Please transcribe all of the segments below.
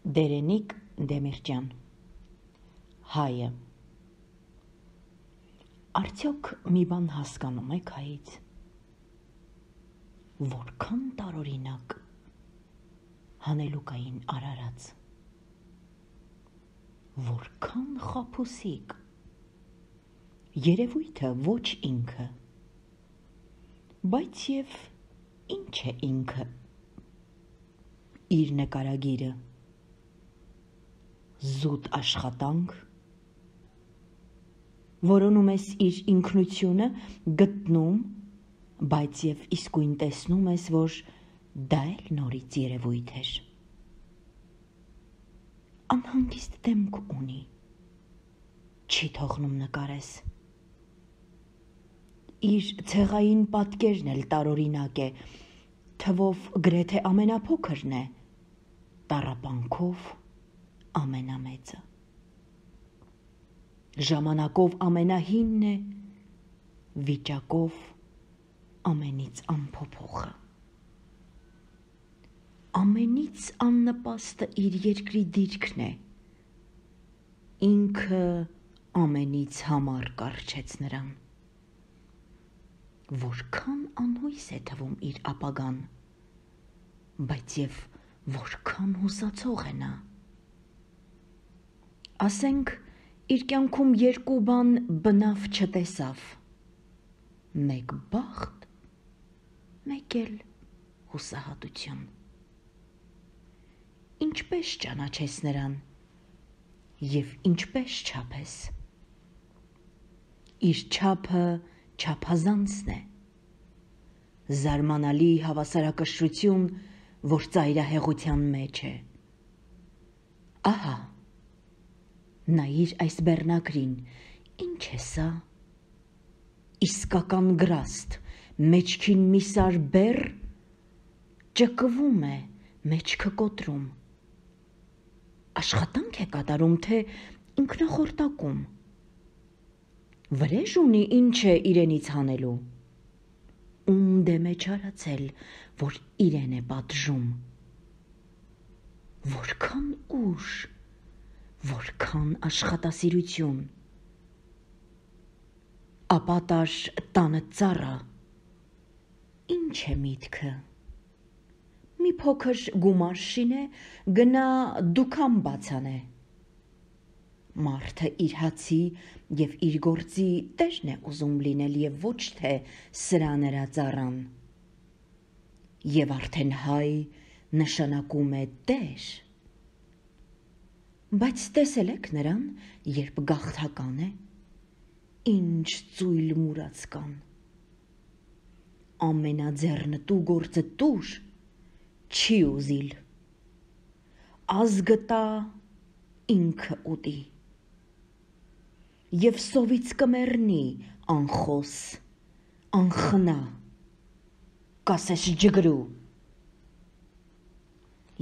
Դերենիկ Դեմիրճյան Հայը Արդյոք մի բան հասկանում եք հայից, որքան տարօրինակ հանելուկային արարած, որքան խաբուսիկ, երևույթը ոչ ինքը, բայց և ինչ է ինքը, իր նկարագիրը, զուտ աշխատանք, որոնում ես իր ինքնությունը գտնում, բայց և իսկույն տեսնում ես, որ դա էլ նորից երևույթ էր։ Անհանգիստ դեմք ունի, չի թողնում նկարես։ Իր ցեղային պատկերն էլ տարօրինակ է, թվով գրեթե ամենափոքրն է, տառապանքով ամենամեծը։ Ժամանակով ամենահինն է, վիճակով ամենից անփոփոխը։ Ամենից աննպաստը իր երկրի դիրքն է, ինքը ամենից համառ կառչեց նրան։ Որքան անհույս է թվում իր ապագան, բայց և որքան հուսացող է նա։ Ասենք, իր կյանքում երկու բան բնավ չտեսավ, մեկ բախտ, մեկ էլ հուսահատություն։ Ինչպես ճանաչես նրան և ինչպես չափես։ Իր չափը չափազանցն է, զարմանալի հավասարակշռություն, որ ծայրահեղության մեջ է։ Ահա, նայիր այս բեռնակրին, ինչ է սա։ Իսկական գրաստ, մեջքին մի սար բեռ, ճկվում է, մեջքը կոտրում։ Աշխատանք է կատարում, թե ինքնախորտակում։ Վրեժ ունի, ինչ է իրենից հանելու։ Ում դեմ է չարացել, որ իրեն է պատժում։ Որքան ուժ, որքան աշխատասիրություն։ Ապա տար տանը ծառը, ինչ է միտքը։ Մի փոքր գումար շինե, գնա դուքան բացանե։ Մարդը իր հացի և իր գործի տերն է ուզում լինել և ոչ թե սրա նրա ծառան։ Եվ արդեն հայ նշանակում է տեր։ Բայց տեսել եք նրան, երբ գաղթական է, ինչ ծույլ մուրացկան։ Ամենաձեռնտու գործը տուր, չի ուզիլ։ Ազգը տա, ինքը ուտի։ Եվ սովից կմեռնի անխոս, անխնա, կասես ջգրու։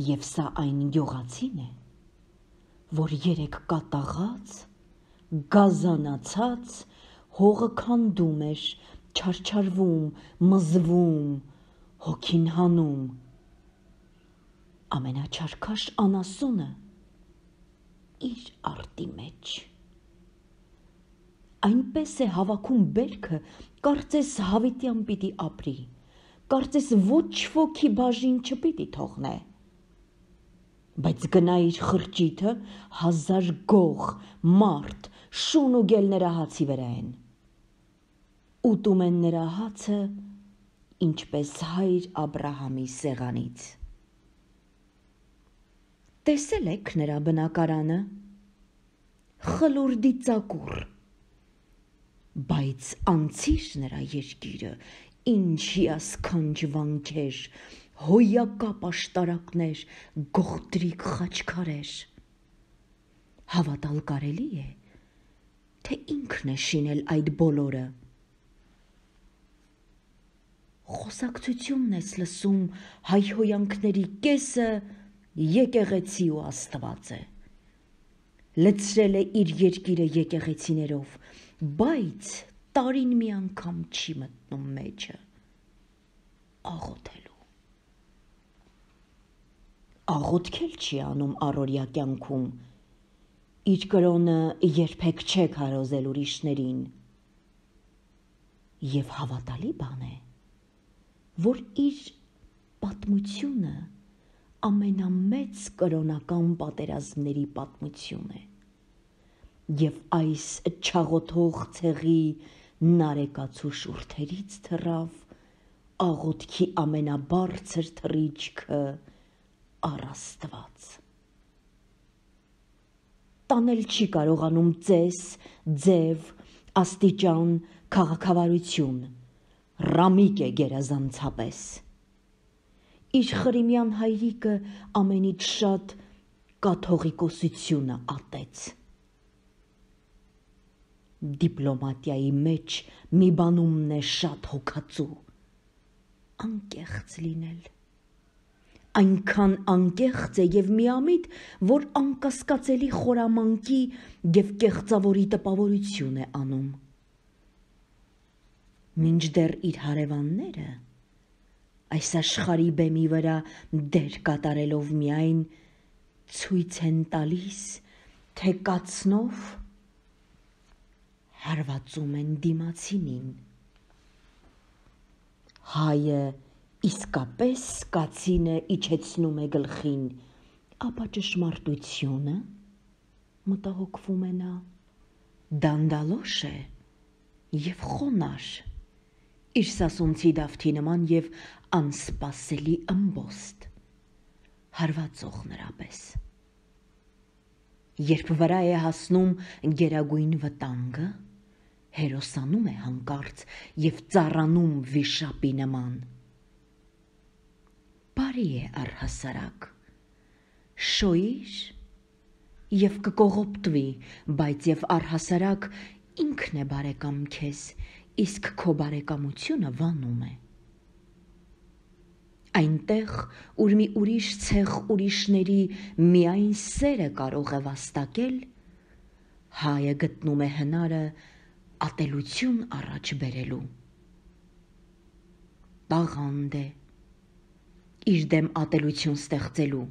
Եվ սա այն գյուղացին է, որ երեկ կատաղած, գազանացած, հողը քանդում էր, չարչարվում, մզվում, հոգին հանում։ Ամենաչարքաշ անասունը իր արտի մեջ։ Այնպես է հավաքում բերքը, կարծես հավիտյան պիտի ապրի, կարծես ոչ ոքի բաժին չպիտի թողնե։ Բայց գնա իր խրճիթը, 1000 գող, մարդ, շուն ու գել նրա հացի վրա են։ Ուտում են նրա հացը, ինչպես հայր Աբրահամի սեղանից։ Տեսել եք նրա բնակարանը, խլուրդի ծակուռ, բայց անցիր նրա երկիրը, ինչ հիասքանչ վանքեր, հոյակապ աշտարակներ, գողտրիկ խաչքարեր։ Հավատալ կարելի է, թե ինքն է շինել այդ բոլորը։ Խոսակցությունն ես լսում հայհոյանքների կեսը եկեղեցի ու Աստված է։ Լցրել է իր երկիրը եկեղեցիներով, բայց տարին մի անգամ չի մտնում մեջը, աղոթելու։ աղոթքել չի անում առօրյա կյանքում, իր կրոնը երբեք չէ քարոզել ուրիշներին։ Եվ հավատալի բան է, որ իր պատմությունը ամենամեծ կրոնական պատերազմների պատմություն է, և այս չաղոթող ցեղի նարեկացու շուրթերից թռավ աղոթքի ամենաբարձր թռիչքը առ Աստված։ Տանել չի կարողանում ծես, ձև, աստիճան, քաղաքավարություն, ռամիկ է գերազանցապես։ Իր խրիմյան հայրիկը ամենից շատ կաթողիկոսությունը ատեց։ Դիպլոմատիայի մեջ մի բանումն է շատ հոգածու՝ անկեղծ լինել։ Այնքան անկեղծ է և միամիտ, որ անկասկածելի խորամանկի և կեղծավորի տպավորություն է անում։ Մինչդեռ իր հարևանները, այս աշխարհի բեմի վրա դեր կատարելով միայն, ցույց են տալիս, թե կացնով հարվածում են դիմացինին։ Հայը իսկապես կացինը իջեցնում է գլխին, ապա ճշմարտությունը, մտահոգվում է նա, դանդալոշ է և խոնարհ, իր սասունցի դավթի նման և անսպասելի ըմբոստ, հարվածող նրա պես։ Երբ վրա է հասնում գերագույն վտանգը, հերոսանում է հանկարծ և ծառանում վիշապի նման։ Բարի է առհասարակ, շոյիր և կկողոպտվի, բայց և առհասարակ ինքն է բարեկամ քեզ, իսկ քո բարեկամությունը վանում է։ Այնտեղ, ուր մի ուրիշ ցեղ ուրիշների միայն սերը կարող է վաստակել, հայը գտնում է հնարը ատելություն առաջ բերելու։ Տաղանդ է իր դեմ ատելություն ստեղծելու։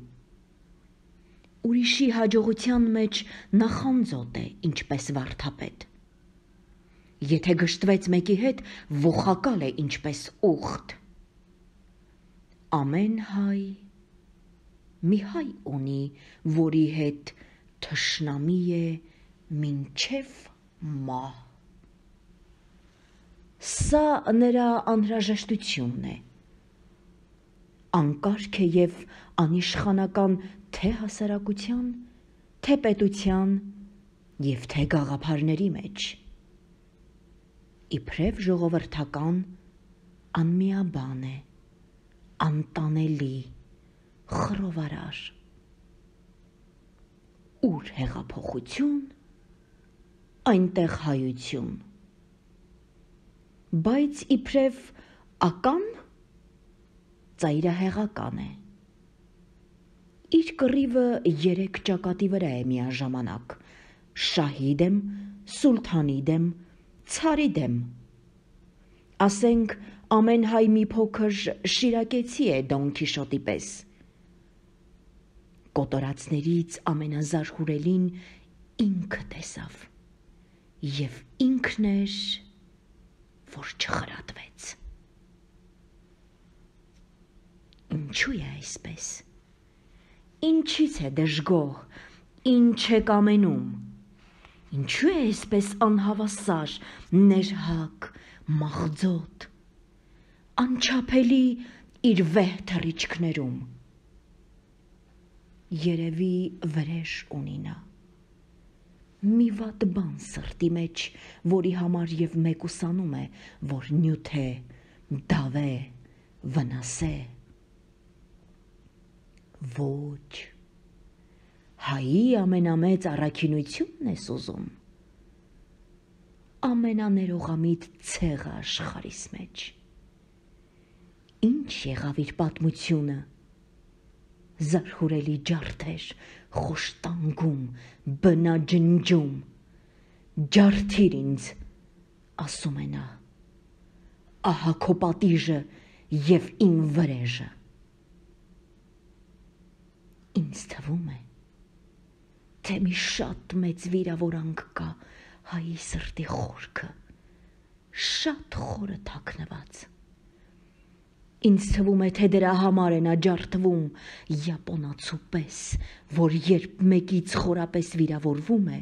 Ուրիշի հաջողության մեջ նախանձոտ է, ինչպես վարդապետ։ Եթե գժտվեց մեկի հետ, ոխակալ է ինչպես ուղտ։ Ամեն հայ մի հայ ունի, որի հետ թշնամի է մինչև մահ։ Սա նրա անհրաժեշտությունն է։ Անկարգ է և անիշխանական թե հասարակության, թե պետության և թե գաղափարների մեջ։ Իբրև ժողովրդական անմիաբան է, անտանելի, խռովարար։ Ուր հեղափոխություն, այնտեղ հայություն։ Բայց իբրև ական ծայրահեղական է։ Իր կռիվը 3 ճակատի վրա է միաժամանակ՝ շահի դեմ, սուլթանի դեմ, ցարի դեմ։ Ասենք, ամեն հայ մի փոքր շիրակեցի է Դոն Քիշոտի պես։ Կոտորածներից ամենազարհուրելին ինքը տեսավ, և ինքն էր, որ չխրատվեց։ Ինչու է այսպես։ Ինչից է դժգոհ, ինչ է կամենում։ Ինչու է այսպես անհավասար, ներհակ, մաղձոտ, անչափելի իր վեհ թռիչքներում։ Երևի վրեժ ունի նա։ Մի վատ բան սրտի մեջ, որի համար և մեկուսանում է, որ նյութ է, դավ է, վնաս է։ Ոչ, հայի ամենամեծ առաքինությունն ես ուզում, ամենաներողամիտ ցեղը աշխարհիս մեջ։ Ինչ եղավ իր պատմությունը, զարհուրելի ջարդեր, խոշտանգում, բնաջնջում, ջարդիր ինձ, ասում է նա, ահա քո պատիժը և իմ վրեժը։ Ինձ թվում է, թե մի շատ մեծ վիրավորանք կա հայի սրտի խորքը, շատ խորը թաքնված։ Ինձ թվում է, թե դրա համար է նա ջարդվում յապոնացու պես, որ երբ մեկից խորապես վիրավորվում է,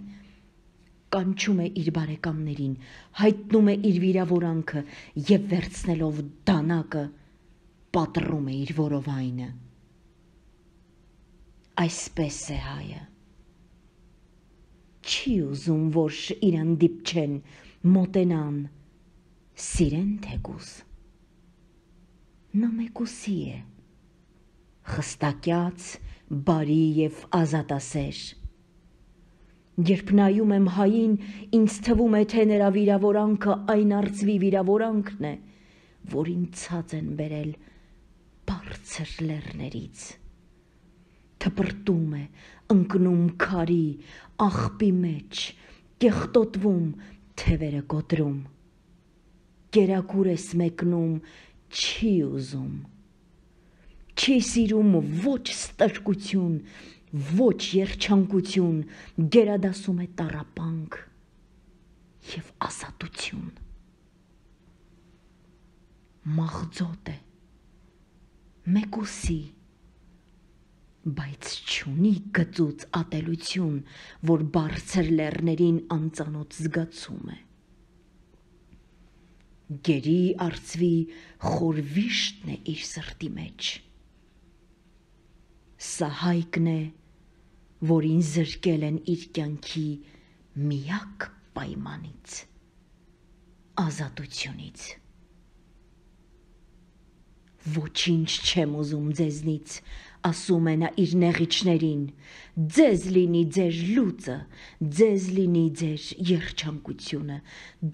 կանչում է իր բարեկամներին, հայտնում է իր վիրավորանքը և վերցնելով դանակը պատռում է իր որովայնը։ Այսպես է հայը։ Չի ուզում, որ իրան դիպչեն, մոտենան, սիրեն թեկուզ։ Նա մեկուսի է, խստակյաց, բարի և ազատասեր։ Երբ նայում եմ հային, ինձ թվում է, թե նրա վիրավորանքը այն արծվի վիրավորանքն է, որին ցած են բերել բարձր լեռներից։ Թպրտում է, ընկնում քարի, աղբի մեջ, կեղտոտվում, թևերը կոտրում։ Կերակուր ես մեկնում, չի ուզում։ Չի սիրում ոչ ստրկություն, ոչ երջանկություն, գերադասում է տառապանք և ազատություն։ Մաղձոտ է, մեկուսի, բայց չունի գծուծ ատելություն, որ բարձր լեռներին անծանոթ զգացում է։ Գերի արծվի խոր վիշտն է իր սրտի մեջ։ Սա հայկն է, որին զրկել են իր կյանքի միակ պայմանից, ազատությունից։ Ոչինչ չեմ ուզում ձեզնից, ասում է նա իր նեղիչներին, ձեզ լինի ձեր լուծը, ձեզ լինի ձեր երջանկությունը,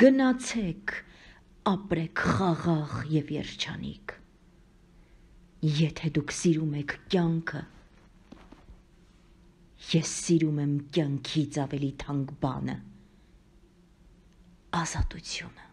գնացեք, ապրեք խաղաղ և երջանիկ։ Եթե դուք սիրում եք կյանքը, ես սիրում եմ կյանքից ավելի թանկ բանը, ազատությունը։